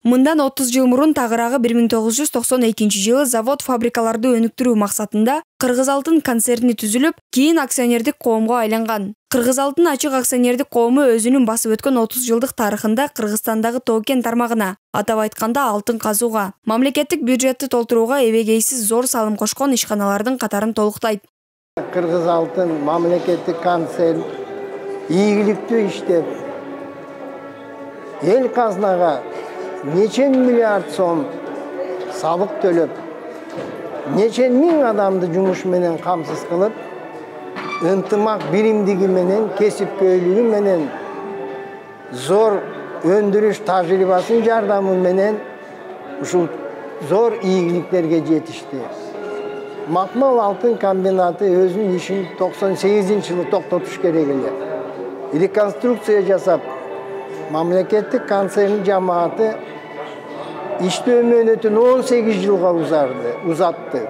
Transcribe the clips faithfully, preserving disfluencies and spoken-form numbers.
Мындан отуз жыл мурун тагыраагы бир миң тогуз жүз токсон экинчи жылы завод-фабрикаларды өнүктүрүү максатында Кыргыз Алтын концерни түзүлүп, кийин акционердик коомго айланган. Кыргыз Алтын ачык акционердик коому өзүнүн басып өткөн отуз жылдык тарыхында Кыргызстандагы тоо-кен тармагына, атап айтканда алтын казууга, мамлекеттик бюджетти толтурууга эбегейсиз зор салым кошкон ишканалардын катарын толуктайт. Кыргыз Алтын мамлекеттик концерн ийгиликтүү иштеп, эл казнага нече миллиард сом салык төлөп, нече миң адамды жумуш менен камсыз кылып, ынтымак биримдиги менен, кесипкөйлүгү менен, зор өндүрүш тажрыйбасынын жардамы менен ушул зор ийгиликтерге жетишти. Макмал алтын комбинаты өзүнүн ишин токсон сегизинчи жылы токтотуш керек эле. Реконструкция жасап, мамлекеттик концерн жамааты иштөө мөөнөтүн он сегиз жылга узатты.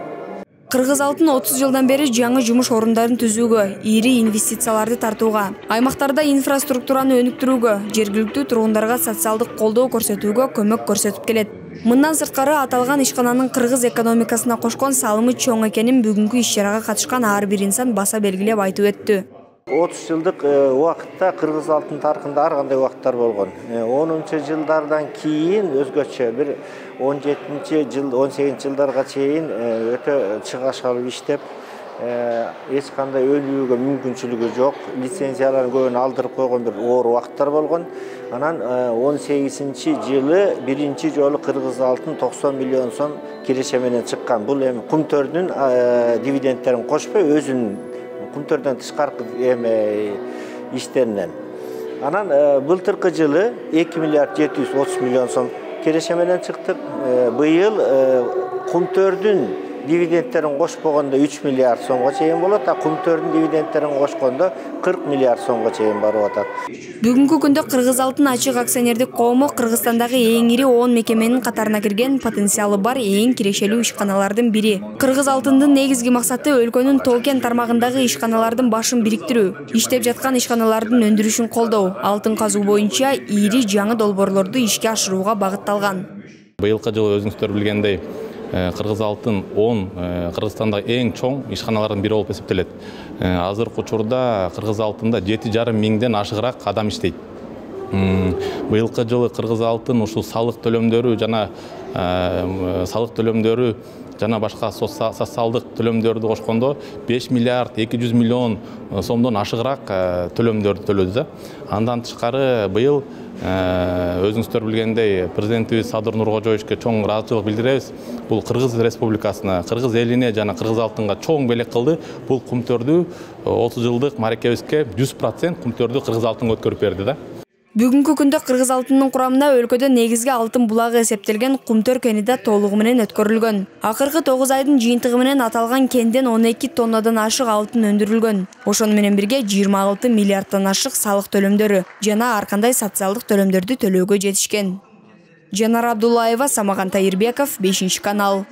Кыргыз Алтын отуз жылдан бери жаңы жумуш орундарын түзүүгө, ири инвестицияларды тартууга, аймактарда инфраструктураны өнүктүрүүгө, жергиликтүү тургундарга социалдык колдоо көрсөтүүгө көмөк көрсөтүп келет. Мындан сырткары аталган ишкананын кыргыз экономикасына кошкон салымы чоң экенин бүгүнкү иш-чарага катышкан ар бир инсан баса белгилеп айтып өттү. отуз жылдык убакытта Кыргыз Алтын тарыхында ар кандай убакыттар болгон. онунчу жылдардан кийин өзгөчө бир он жетинчи жыл, он сегизинчи жылдарга чейин өтө чыгаш алып иштеп, эч кандай өнүүгө мүмкүнчүлүгү жок, лицензияларын көбүн алдырып койгон бир оор убакыттар болгон. Анан он сегизинчи жылы биринчи жолу Кыргыз Алтын токсон миллион сом киреше менен чыккан. Бул эми кумтөрдүн дивидендтерин кошпой, өзүнүн кумтөрдөн тышкаркы эме иштеринен. Анан былтыркы жылы эки миллиард жети жүз отуз миллион сом киреше менен чыктык. Быйыл кумтөрдүн дивидендтерин кошпогондо үч миллиард сомго чейин болот, а кумтөрдүн дивидендтерин кошкондо кырк миллиард сомго чейин барып атат. Бүгүнкү күндө Кыргыз Алтын ачык акционердик коому Кыргызстандагы эң ири он мекеменин катарына кирген, потенциалы бар эң кирешелүү ишканалардын бири. Кыргыз Алтындын негизги максаты өлкөнүн тоо-кен тармагындагы ишканалардын башын бириктирүү, иштеп жаткан ишканалардын өндүрүшүн колдоо, алтын казуу боюнча ири жаңы долбоорлорду ишке ашырууга багытталган. Быйылкы жылы өзүңүздөр билгендей, Кыргыз Алтын он Кыргызстандагы эң чоң ишканалардын бири болуп эсептелет. Азыркы учурда Кыргыз Алтында жети жарым миңден ашыгыраак адам иштейт. Быйылкы жылы Кыргыз Алтын ушул салык төлөмдөрү жана салык төлөмдөрү жана башка социалдык төлөмдөрдү кошкондо беш миллиард эки жүз миллион сомдон ашыгыраак төлөмдөрдү төлөдү. Андан тышкары быйыл өзүңүздөр билгендей президентибиз Садыр Нуркожоевичке чоң ыраазычылык билдиребиз. Бул Кыргыз Республикасына, Кыргыз элине жана Кыргыз Алтынга чоң белек кылды. Бул кумтөрдү отуз жылдык мааракебизге жүз процент кумтөрдү Кыргыз Алтынга өткөрүп берди да. Бүгүнкү күндө Кыргыз Алтынынын курамына өлкөдө негизги алтын булагы эсептелген Кумтөр кени да толугу менен өткөрүлгөн. Акыркы тогуз айдын жыйынтыгы менен аталган кенден он эки тоннадан ашык алтын өндүрүлгөн. Ошону менен бирге жыйырма алты миллиарддан ашык салык төлөмдөрү жана ар кандай социалдык төлөмдөрдү төлөөгө жетишкен. Жанара Абдуллаева, Самаган Тайырбеков, бешинчи канал.